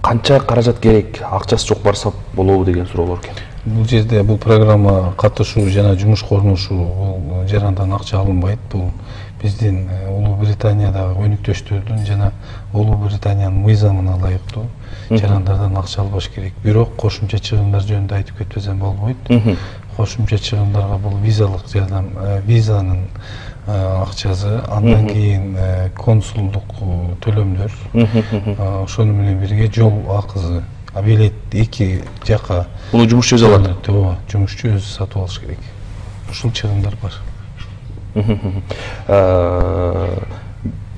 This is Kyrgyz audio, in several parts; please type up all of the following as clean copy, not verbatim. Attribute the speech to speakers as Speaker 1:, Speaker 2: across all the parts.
Speaker 1: канча каражат керек, акчасы жок барса болобу деген суроолор экен.
Speaker 2: Бул жерде бул программа катышуу жана жумушка орношуу бул жарандан акча алынбайт. Бул биздин Улуу Британиядагы өнүктөштөрдүн жана Улуу Британиянын мыйзамына ылайыктуу жарандардан акча албаш керек. Бирок кошумча чыгымдар жөнүндө айтып кетпесем болбойт. Кошумча чыгымдарга бул визалык жардам, визанын акчасы, андан кийин консулдук төлөмдөр, ошону менен бирге жол акысы, билет эки жака.
Speaker 1: Буну жумушчу өзү алат.
Speaker 2: Ооба, жумушчу өзү сатып алыш керек. Ушул чыгымдар бар.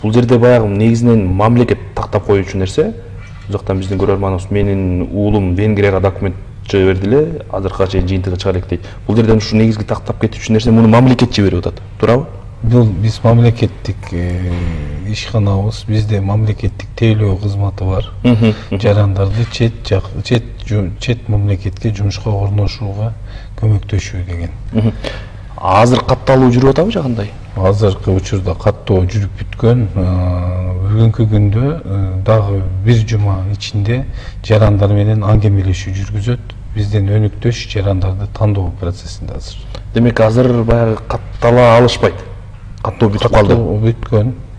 Speaker 1: Бул жерде баягы негизинен мамлекет тактап коюучу нерсе. Бул жактан биздин көрөрманыбыз менин уулум Венгрияга документ жиберди эле, азыркыга чейин жыйынтыгы чыга элек дейт. Бул жерден ушу негизги тактап кетүүчү нерсе муну мамлекет жиберип атат. Туурабы?
Speaker 2: Биз мамлекеттик ишканабыз, бизде мамлекеттик тейлөө кызматы бар. Жарандарды чет мамлекетке жумушка орношууга көмөктөшүү деген.
Speaker 1: Азыр катталуу жүрүп атабы же кандай?
Speaker 2: Азыркы учурда каттоо жүрүп бүткөн. Бүгүнкү күндө дагы бир жума ичинде жарандар менен аңгемелешүү жүргүзөт. Биздин өнүктөш жарандарды тандоо процессинде азыр.
Speaker 1: Демек азыр баягы каттала алышпайт. Каттоо бүтүп калды.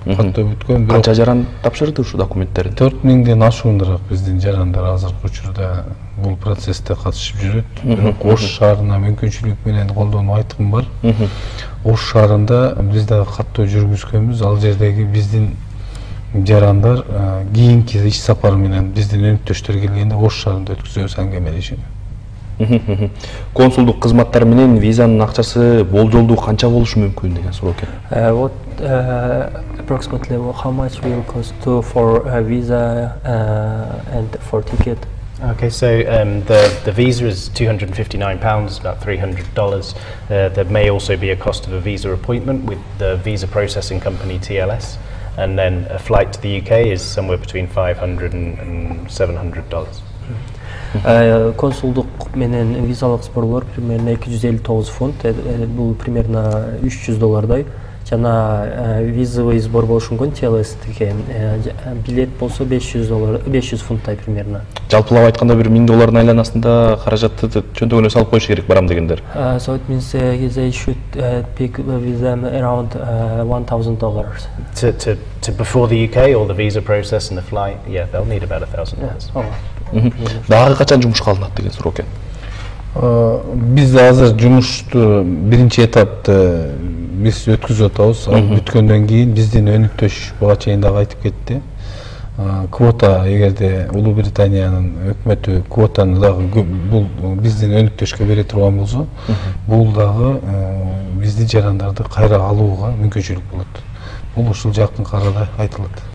Speaker 2: Каттоо бүткөн.
Speaker 1: Канча жаран тапшырды ушу документтерин?
Speaker 2: 4000ден ашуундураак биздин жарандар азыркы учурда бул процессте катышып жүрөт. Бирок Ош шаарына мүмкүнчүлүк менен колдонуп айткым бар. Ош шаарында биз дагы каттоо жүргүзгөнбүз. Ал жердеги биздин жарандар кийинки иш сапары менен биздин өнүктөштөр келгенде Ош шаарында өткүзөбүз аңгемелешүүнү.
Speaker 1: Консулдук кызматтар менен визанын акчасы болжолдуу канча болушу мүмкүн деген суроо экен.
Speaker 3: What approximately how much will cost for a visa and for ticket?
Speaker 4: Okay, so the visa is £259, about $300. There may also be a cost of a visa appointment with the visa processing company TLS, and then a flight to the UK is somewhere between $500 and $700.
Speaker 3: Консулдук менен визалык сборлор примерно 259 фунт, бул примерно $300 жана визовый сбор болушу мүмкүн TLS-тике. Билет болсо $500 фунттай примерно.
Speaker 1: Жалпылап айтканда бир $1000 айланасында каражатты чөнтөгүнө салып коюш керек барам дегендер.
Speaker 3: So it means they should pick with them around $1000.
Speaker 4: To before the UK, all the visa process and the flight, yeah, they'll need about $1000.
Speaker 1: Дагы качан жумушка алынат деген суроо экен.
Speaker 2: Бизде азыр жумушту биринчи этапты биз өткүзүп атабыз. Ал бүткөндөн кийин биздин өнүктөш буга чейин дагы айтып кетти. Квота, эгерде Улуу Британиянын өкмөтү квотаны дагы бул биздин өнүктөшкө бере турган болсо, бул дагы биздин жарандарды кайра алууга мүмкүнчүлүк болот. Бул ушул жакын арада айтылат.